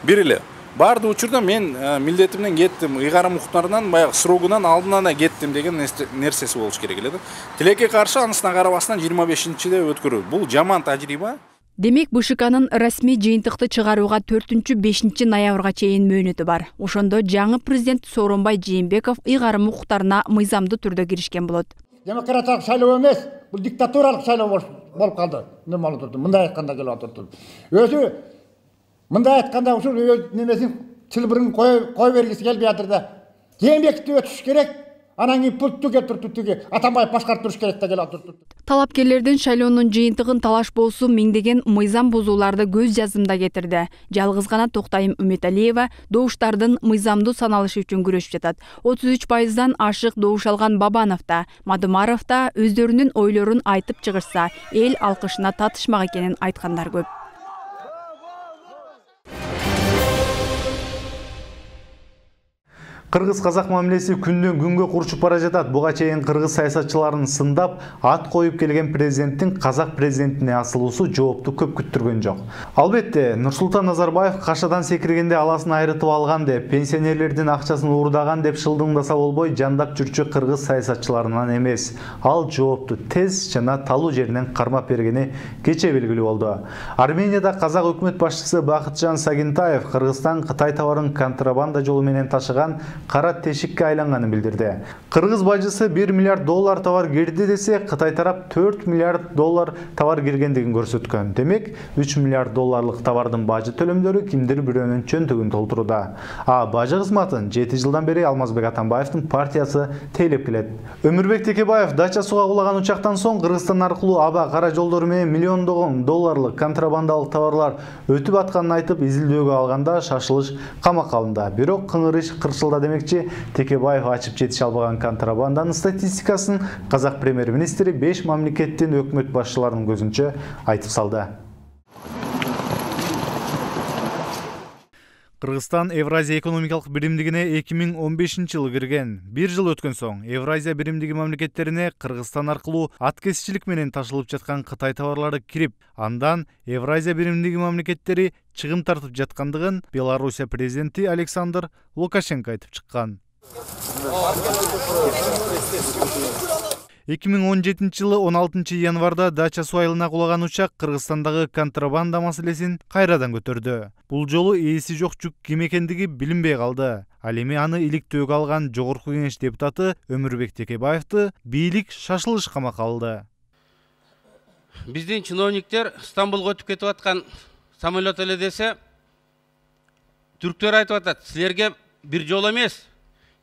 Бир эле. Барды учурда мен милдетимден кеттим, ыйгарым укуктарынан баягы срогунан алдынан да кеттим деген нерсеси болуш керек эле да. Тилекке каршы анысына карабастан жыйырма бешинчиде өткөрүү. Бул жаман тажрыйба.
Демек БШКнын расмий жыйынтыкты чыгарууга төртүнчү бешинчи ноябрга чейин мөөнөтү бар. Ошондо жаңы президент Сооронбай Жээнбеков ыйгарым укуктарына мыйзамдуу түрдө киришкен болот.
Демократиялык шайлоо эмес, бул диктатуралык шайлоо болуп калды. Эмне болуп турду? Мындай айтканда келип атат. Өзү мындай айтканда ушул өз немесин чылбырын кой кой бергиси келбей атыр да. Жээнбековду өтүш керек, анан кийин пультту кетиртип тиги Атамбаев башкарып туруш керек деген отурду.
Талапкерлердин шайлоонун жыйынтыгын талаш болсу миңдеген мыйзам бузууларды көз жазымда кетирди. Жалгыз гана Токтайым Үмөталиева добуштардын мыйзамдуу саналышы үчүн күрөшүп жатат. отуз үч пайыздан ашык добуш алган Бабанов да, Мадымаров да өздөрүнүн ойлорун айтып чыгышса, эл алкышына татышмак экенин айткандар көп.
Кыргыз-казак мамилеси күндөн күнгө курчуп бара жатат. Буга чейин кыргыз саясатчыларын сындап, ат коюп келген президенттин казак президентине асылуусу жоопту көп күттүргөн жок. Албетте, Нурсултан Назарбаев кашадан секиргенде аласын айрытып алган деп, пенсионерлердин акчасын уурдаган деп шылдыңдаса болбой, жандап жүрчү кыргыз саясатчыларынан эмес. Ал жоопту тез жана талуу жеринен кармап бергени кече белгилүү болду. Арменияда казак өкмөт башчысы Бакытжан Сагинтаев Кыргызстан Кытай товарын контрабанда жолу менен ташыган кара тешикке айланганын билдирди. Кыргыз бажысы бир миллиард доллар товар кирди десе, Кытай тарап төрт миллиард доллар товар киргендигин көрсөткөн. Демек, үч миллиард долларлык товардын бажы төлөмдөрү кимдир бирөөнүн чөнтөгүн толтуруда. А бажы кызматын жети жылдан бери Алмазбек Атамбаевдин партиясы тейлеп келет. Өмүрбек Текебаев дача суга кулаган учактан соң Кыргызстан аркылуу аба кара жолдору менен миллиондогон долларлык контрабандалык товарлар өтүп атканын айтып изилдөөгө алганда шашылыш камакка алынды. Бирок кыңыр иш кырсылда демекчи, Текебаев ачып жетише албаган контрабанданын статистикасын казак премьер-министри беш мамлекеттин өкмөт башчыларынын көзүнчө айтып салды. Кыргызстан Евразия экономикалык биримдигине эки миң он бешинчи жылы кирген. Бир жыл өткөн соң Евразия биримдиги мамлекеттерине Кыргызстан аркылуу аткезчилик менен ташылып жаткан Кытай товарлары кирип, андан Евразия биримдиги мамлекеттери чыгым тартып жаткандыгын Белоруссия президенти Александр Лукашенко айтып чыккан. эки миң он жетинчи жылы он алтынчы январда дача суу айылына кулаган учак Кыргызстандагы контрабанда маселесин кайрадан көтөрдү. Бул жолу ээси жок жүк ким экендиги билинбей калды. Ал эми аны иликтөөгө алган Жогорку Кеңеш депутаты Өмүрбек Текебаевди бийлик шашылыш камакка алды.
Биздин чиновниктер Стамбулга өтүп кетип аткан самолет эле десе, түрктөр айтып атат, силерге бир жолу эмес,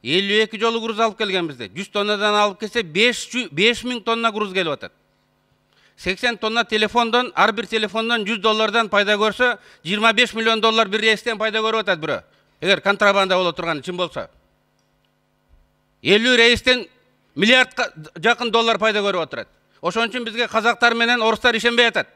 элүү эки жолу груз алып келген бизде. жүз тоннадан алып келсе беш миң тонна груз келип атат. сексен тонна телефондон, ар бир телефондон жүз доллардан пайда көрсө, жыйырма беш миллион доллар бир рейстен пайда көрүп атат бирөө. Эгер контрабанда боло турган чын болсо. элүү рейстен миллиардка жакын доллар пайда көрүп отурат. Ошон үчүн бизге казактар менен орустар ишенбей атат.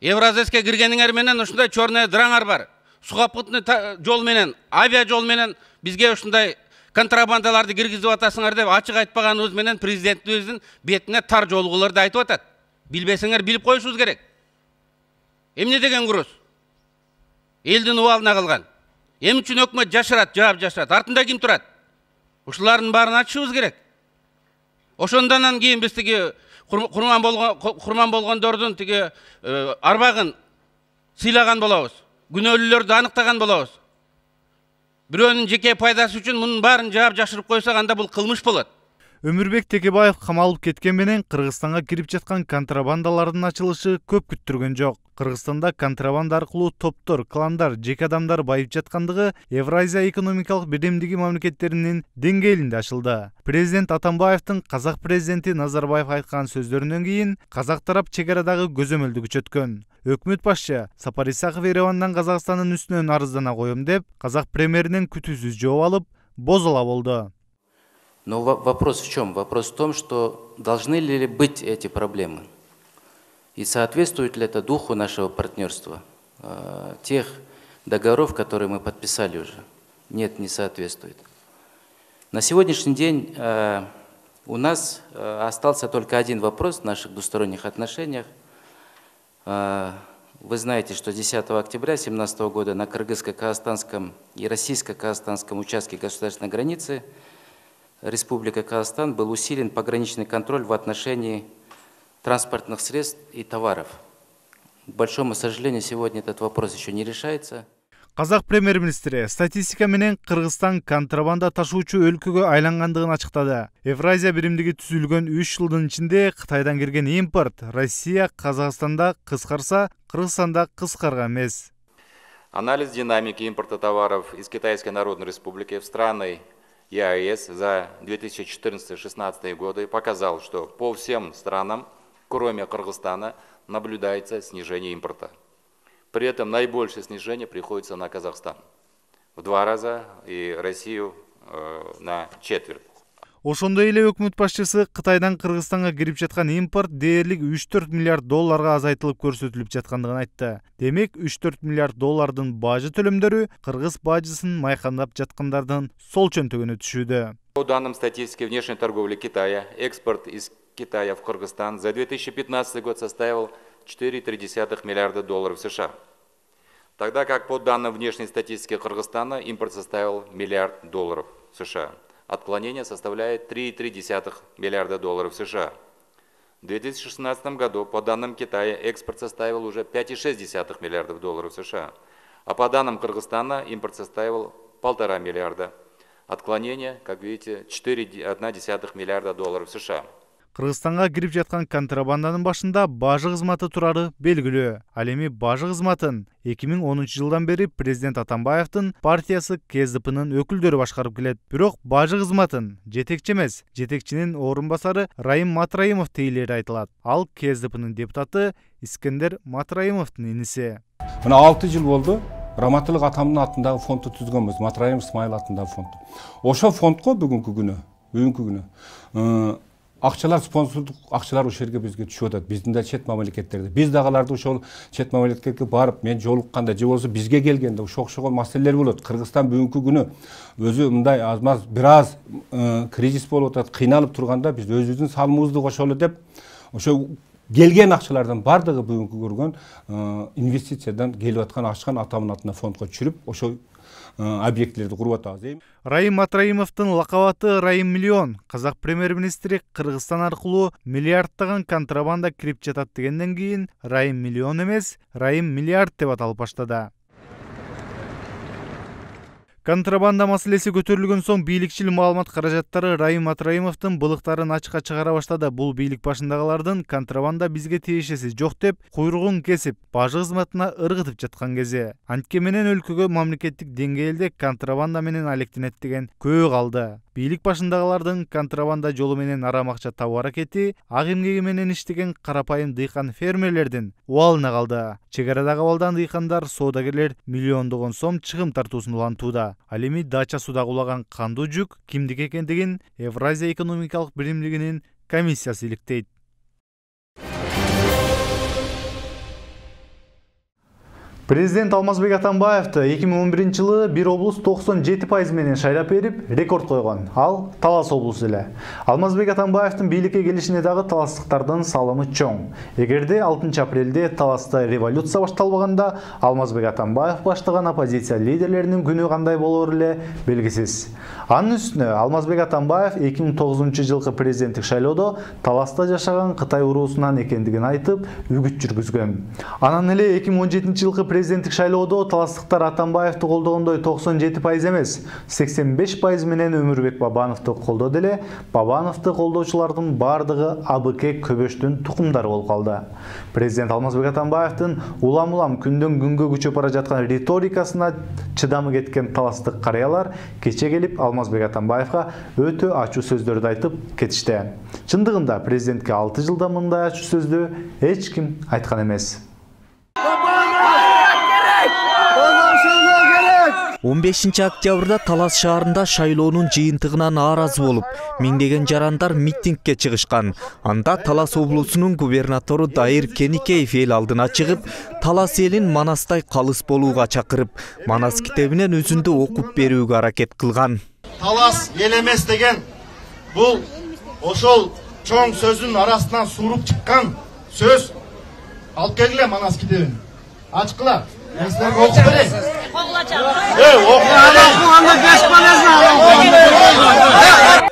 Евразияске киргениңер менен ушундай чорный драңар бар. Сухопутный жол менен, авиа жол менен бизге ушундай контрабандаларды киргизип атасыңар деп ачык айтпаганыбыз менен президентибиздин бетине тар жолгуларды айтып атат. Билбесеңер билип коюшубуз керек. Эмне деген груз? Элдин убалына калган. Эми үчүн өкмөт жашырат, жаап жашырат. Артында ким турат? Ушулардын баарын ачышыбыз керек. Ошондон кийин биз тиги курман болгон курман болгондордун тиги арбагын сыйлаган болобуз. Күнөөлүүлөрдү аныктаган болобуз. Бирөөнүн жеке пайдасы үчүн мунун баарын жаап жашырып койсок, анда бул кылмыш болот.
Өмүрбек Текебаев камалып кеткен менен Кыргызстанга кирип жаткан контрабандалардын ачылышы көп күттүргөн жок. Кыргызстанда контрабанда аркылуу топтор, кландар, жеке адамдар байып жаткандыгы Евразия экономикалык биримдиги мамлекеттеринин деңгээлинде ачылды. Президент Атамбаевдин казак президенти Назарбаев айткан сөздөрүнөн кийин казак тарап чек арадагы көзөмөлдү күчөткөн. Өкмөт башчы Сапар Исаков Еревандан Казакстандын үстүнөн арыздана коем деп, казак премьеринен күтүүсүз жооп алып, бозола болду.
Но вопрос в чем? Вопрос в том, что должны ли быть эти проблемы? И соответствует ли это духу нашего партнерства, э, тех договоров, которые мы подписали уже? Нет, не соответствует. На сегодняшний день э, у нас э, остался только один вопрос в наших двусторонних отношениях. Э, вы знаете, что десятого октября две тысячи семнадцатого года на кыргызско-казахстанском и российско-казахстанском участке государственной границы Республика Казахстан был усилен пограничный контроль в отношении транспортных средств и товаров. К большому сожалению, сегодня этот вопрос еще не решается.
Казак премьер-министри статистика менен Кыргызстан контрабанда ташуучу өлкөгө айлангандыгын ачыктады. Евразия биримдиги түзүлгөн үч жылдын ичинде Кытайдан кирген импорт Россия Казакстанда кыскарса, Кыргызстанда кыскарган эмес.
Анализ динамики импорта товаров из Китайской Народной Республики в страны и а э с за две тысячи четырнадцатый — две тысячи шестнадцатый годы показал, что по всем странам, кроме Кыргызстана, наблюдается снижение импорта. При этом наибольшее снижение приходится на Казахстан. В два раза и Россию э, на четверть.
Ошондой эле өкмөт башчысы Кытайдан Кыргызстанга кирип жаткан импорт дээрлик үч төрт миллиард долларга азайтылып көрсөтүлүп жаткандыгын айтты. Демек үч төрт миллиард доллардын бажы төлөмдөрү кыргыз бажысын майкандап жаткандардын сол чөнтөгүнө түшүүдө.
По данным статистики внешней торговли Китая, экспорт из Китая в Кыргызстан за две тысячи пятнадцатый год составил четыре целых три десятых миллиарда долларов США. Тогда как по данным внешней статистики Кыргызстана импорт составил миллиард долларов США. Отклонение составляет три целых три десятых миллиарда долларов США. В две тысячи шестнадцатом году по данным Китая экспорт составил уже пять целых шесть десятых миллиардов долларов США. А по данным Кыргызстана импорт составил полтора миллиарда. Отклонение, как видите, четыре целых одна десятых миллиарда долларов США.
Кыргызстанга кирип жаткан контрабанданын башында бажы кызматы турары белгилүү. Ал эми бажы кызматын эки миң онунчу жылдан бери президент Атамбаевдин партиясы К С D P'нын өкүлдөрү башкарып келет. Бирок бажы кызматын жетекчи эмес, жетекчинин орун басары Райым Матраимов тейлери айтылат. Ал К С D P'нын депутаты Искендер Матраимовдун иниси.
Мына алты жыл болду. Раматылык атамдын атындагы фондду түзгөнбүз. Матраимов Исмаил атындагы фонд. Ошо фондко бүгүнкү күнү, бүгүнкү күнү акчалар, спонсордук акчалар ошол жерге бизге түшүп атат. Биздин да чет мамлекеттерде. Биз дагаларды ошол чет мамлекетке барып, мен жолукканда же болбосо бизге келгенде ошол окшогон маселелер болот. Кыргызстан бүгүнкү күнү өзү мындай аз-маз бир аз кризис болуп атат, кыйналып турганда биз өзүбүздүн салымыбызды кошолу деп ошо келген акчалардын бардыгы бүгүнкү көргөн инвестициядан келип аткан ачкан атамдын атына фондко түшүрүп, ошол объектилерди куруп атабыз.
Райым Матраимовдун лакабаты Райым миллион. Казак премьер-министри Кыргызстан аркылуу миллиардтаган контрабанда кирип жатат дегенден кийин Райым миллион эмес, Райым миллиард деп аталып баштады. Контрабанда маселеси көтөрүлгөн соң бийликчил маалымат каражаттары Райым Матраимовдун былыктарын ачыкка чыгара баштады. Бул бийлик башындагылардын контрабанда бизге тиешеси жок деп куйругун кесип, бажы кызматына ыргытып жаткан кези. Антке менен өлкөгө мамлекеттик деңгээлде контрабанда менен алектенет деген көөгө калды. Бийлик башындагылардын контрабанда жолу менен арам акча табуу аракети ак эмгеги менен иштеген карапайым дыйкан фермерлердин убалына калды. Чек арадагы абалдан дыйкандар, соодагерлер миллиондогон сом чыгым тартуусун улантууда. Ал эми дача суда кулаган кандуу жүк кимдики экендигин Евразия экономикалык биримдигинин комиссиясы иликтейт.
Президент Алмазбек Атамбаевди эки миң он биринчи жылы бир облус токсон жети пайыз менен шайлап берип, рекорд койгон. Ал Талас облусу эле. Алмазбек Атамбаевдин бийликке келишине дагы таластыктардын салымы чоң. Эгерде алтынчы апрелде Таласта революция башталбаганда, Алмазбек Атамбаев баштаган оппозиция лидерлеринин күнү кандай болор эле белгисиз. Анын үстүнө Алмазбек Атамбаев эки миң тогузунчу жылкы президенттик шайлоодо Таласта жашаган Кытай уруусунан экендигин айтып, үгүт жүргүзгөн. Анан эле эки миң он жетинчи жылкы президенттик шайлоодо таластыктар Атамбаевди колдогондой токсон жети пайыз эмес, сексен беш пайыз менен Өмүрбек Бабановду колдоду эле. Бабановду колдоочулардын бардыгы А Б К көбөштүн тукумдары болуп калды. Президент Алмазбек Атамбаевдин улам-улам күндөн күнгө күчөп бара жаткан риторикасына чыдамы кеткен таластык карыялар кече келип Алмазбек Атамбаевга өтө ачуу сөздөрдү айтып кетишти. Чындыгында президентке алты жылда мындай ачуу сөздү эч ким айткан эмес.
он бешинчи октябрда Талас шаарында шайлоонун жыйынтыгына нааразы болуп, миңдеген жарандар митингке чыгышкан. Анда Талас облусунун губернатору Дайыр Кеникеев эл алдына чыгып, Талас элин Манастай калыс болууга чакырып, Манас китебинен өзүндү окуп берүүгө аракет кылган.
Талас эл эмес деген бул ошол чоң сөздүн арасынан суруп чыккан сөз. Алып келгиле Манас китебин. Ачкыла.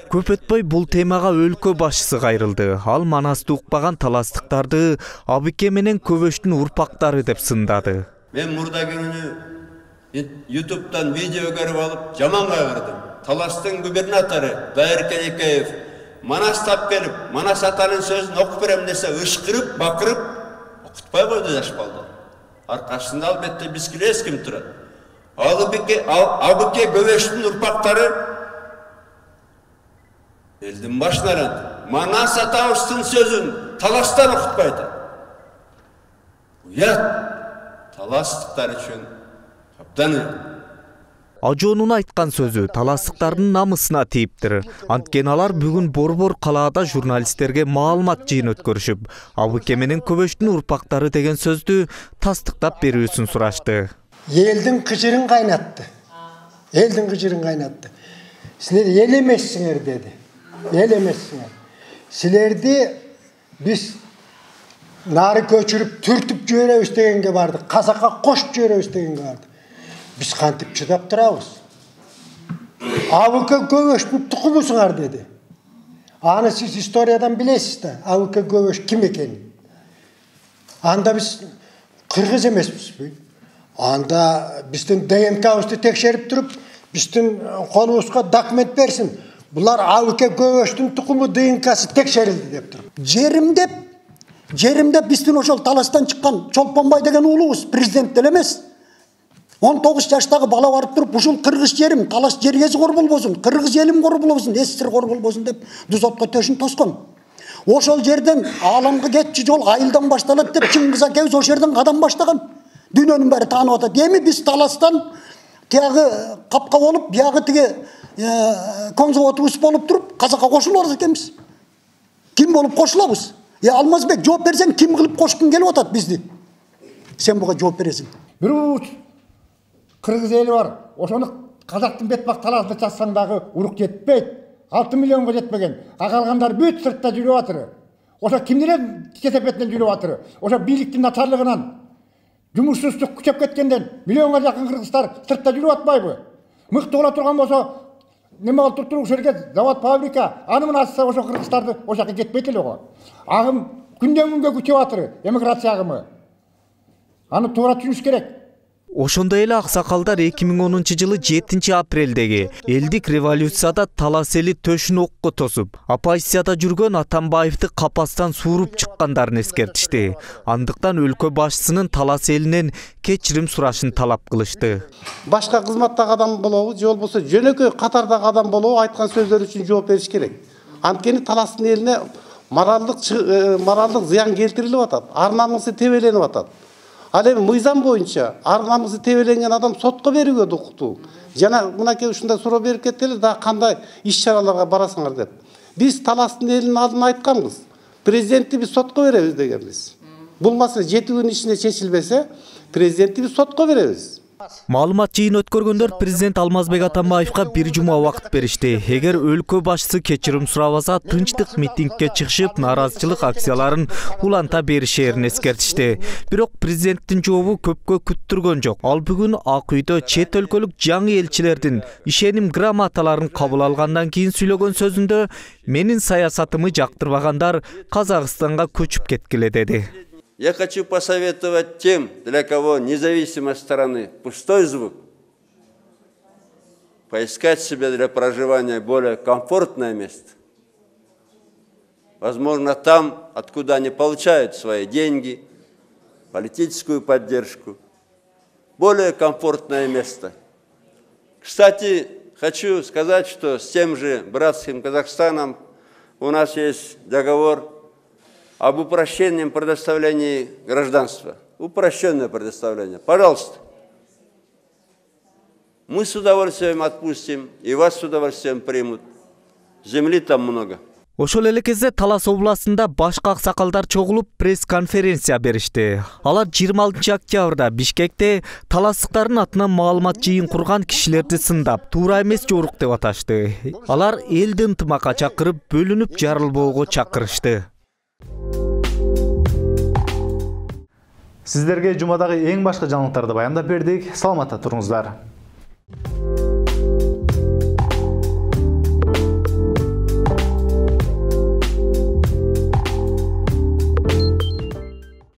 Көп өтпөй бул темага өлкө башчысы кайрылды. Ал Манасты укпаган таластыктарды А Б К менен көбөштүн урпактары деп сындады.
Мен мурда күнү ютубтан видео көрүп алып, жаман кайгырдым. Таластын губернатору Дайыр Кеникеев Манас тап келип, Манас атанын сөзүн окуп берем десе, ышкырып, бакырып, окутпай койду жашпалды. Аркасында албетте бизге эч ким турат. А Б К көбөштүн урпактары Элдин башынан Манас атабыздын сөзүн таластан окутпай атат. Уят таластыктар үчүн абдан уят.
Ажоонун айткан сөзү таластыктардын намысына тийиптир. Анткени алар бүгүн Борбор калаада журналисттерге маалымат жыйын өткөрүшүп, АБК менен Көбөштүн урпактары деген сөздү тастыктап берүүсүн сурашты.
Элдин кыжырын кайнатты. Элдин кыжырын кайнатты. Силер эл эмессиңер деди. Эл эмессиңер. Силерди биз нары көчүрүп түртүп жиберебиз дегенге бардык. Казакка кошуп жиберебиз дегенге бардык. Biz kantip çıdap durabız. Abıka Göböштүн tukumусуңар dedi. Аны siz historiyadan bilesiz de. Abıka Göböş kim ekeni. Anda biz Kırgız emesmiz. Anda bizden D N K'bızды tekşerip durup, bizden kolumuzga dokument versin. Bunlar Abıka Göböштүн tukumu D N K'sı tekşerildi dep durup. Jerim dep, jerim dep bizden oşol Talastan çıkan Çolpanbay degen uğlubuz. Prezident delemez. он тогуз жаштагы бала барып туруп, ушул кыргыз жерим, талаш жергеси кор болбосун, кыргыз элим кор болбосун, СССР кор болбосун деп Дузотко төшүн тоскон. Ошол жерден ааламга кетчү жол айылдан башталат деп Чыңгыз акебиз ошол жерден кадам баштаган. Дүйнөнүн баары таанып атат. Эми биз Таластан тиягы капка болуп, биягы тиги консервативист болуп туруп, казакка кошулуп атат экенбиз. Ким болуп кошулабыз? Е Алмазбек, жооп берсең, ким кылып кошкун келип атат бизди? Сен буга жооп бересиң.
Бирөө Кыргыз эли бар. Ошону казактын бетбак талаасында чачсаң дагы урук жетпейт. алты миллионго жетпеген. А калгандар бүт сыртта жүрүп атыр. Ошо кимдин кетепетинен жүрүп атыр. Ошо бийликтин начарлыгынан, жумушсуздук күчөп кеткенден миллионго жакын кыргыздар сыртта жүрүп атпайбы? Мыкты бола турган болсо, неме болуп туруп, ошол жерге завод, фабрика, аны мына ачса ошо кыргыздарды ошол жака кетпейт эле го. Агым күндөн күнгө күчөп атыр, эмиграция агымы. Аны туура түшүнүш керек.
Ошондой эле аксакалдар эки миң онунчу жылы жетинчи апрелдеги элдик революцияда Талас эли төшүн окко тосуп, оппозицияда жүргөн Атамбаевди капастан сууруп чыккандарын эскертишти. Андыктан өлкө башчысынын Талас элинен кечирим сурашын талап кылышты.
Башка кызматтагы адам болобу, же болбосо жөнөкөй катардагы адам болобу айткан сөздөр үчүн жооп бериш керек. Анткени Таластын элине моралдык моралдык зыян келтирилип атат, ар намысы тебеленип атат. Ал эми мыйзам боюнча ар намысы тебеленген адам сотко берүүгө укуктуу. Жана мынакей ушундай суроо берип кетти эле, да кандай иш-чараларга барасыңар деп. Биз Таластын элинин алдына айтканбыз. Президентти биз сотко беребиз дегенбиз. Бул маселе жети күн ичинде чечилбесе, президентти биз сотко беребиз.
Маалымат жыйын өткөргөндөр президент Алмазбек Атамбаевга бир жума убакыт беришти. Эгер өлкө башчысы кечирим сурабаса, тынчтык митингге чыгышып, нааразычылык акцияларын уланта беришерин эскертишти. Бирок президенттин жообу көпкө күттүргөн жок. Ал бүгүн Ак үйдө чет өлкөлүк жаңы элчилердин ишеним грамоталарын кабыл алгандан кийин сүйлөгөн сөзүндө менин саясатымы жактырбагандар Казакстанга көчүп кеткиле деди.
Я хочу посоветовать тем, для кого независимость страны пустой звук, поискать себе для проживания более комфортное место. Возможно, там, откуда они получают свои деньги, политическую поддержку. Более комфортное место. Кстати, хочу сказать, что с тем же братским Казахстаном у нас есть договор об упрощенном предоставлении гражданства. Упрощенное предоставление. Пожалуйста. Мы с удовольствием отпустим, и вас с удовольствием примут. Земли там много.
Ошол эле кезде Талас областында башка аксакалдар чогулуп пресс-конференция беришти. Алар жыйырма алтынчы октябрда Бишкекте таластыктардын атынан маалымат жыйын курган кишилерди сындап, туура эмес жорук деп аташты. Алар элди ынтымакка чакырып, бөлүнүп жарылбоого чакырышты.
Сиздерге жумадагы эң башкы жаңылыктарды баяндап бердик. Саламатта туруңуздар.